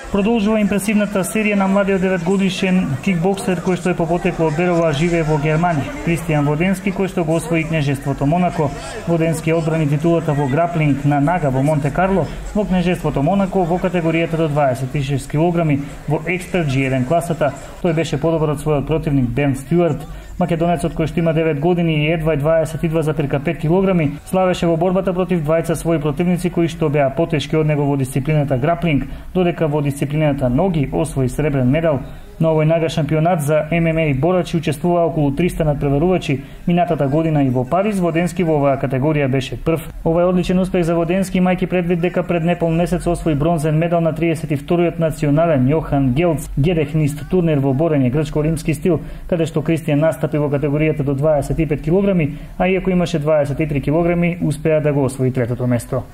Продолжува импресивната серија на младиот 9-годишен кикбоксер кој што е по потекло од Берова живее во Германија. Кристијан Воденски кој што го освои кнежеството Монако. Воденски одбрани титулата во граплинг на нага во Монте Карло во кнежеството Монако во категоријата до 26 кг во експерт G1 класата. Тој беше подобар од својот противник Бен Стюарт. Македонецот кој што има 9 години и едва 22,5 кг славеше во борбата против двајца своји противници кои што беа потешки од него во дисциплината граплинг, додека во дисциплината ноги освои сребрен медал. На овој нага шампионат за ММА борачи учествуваа околу 300 надпреварувачи. Минатата година и во Париз Воденски во оваа категорија беше прв. Ова е одличен успех за Воденски, имајќи предвид дека пред непол месец освои бронзен медал на 32-иот национален Јохан Гелц Гедехнист турнир во борење грчко-римски стил, каде што Кристијан настапи во категоријата до 25 кг, а иако имаше 23 кг, успеа да го освои третото место.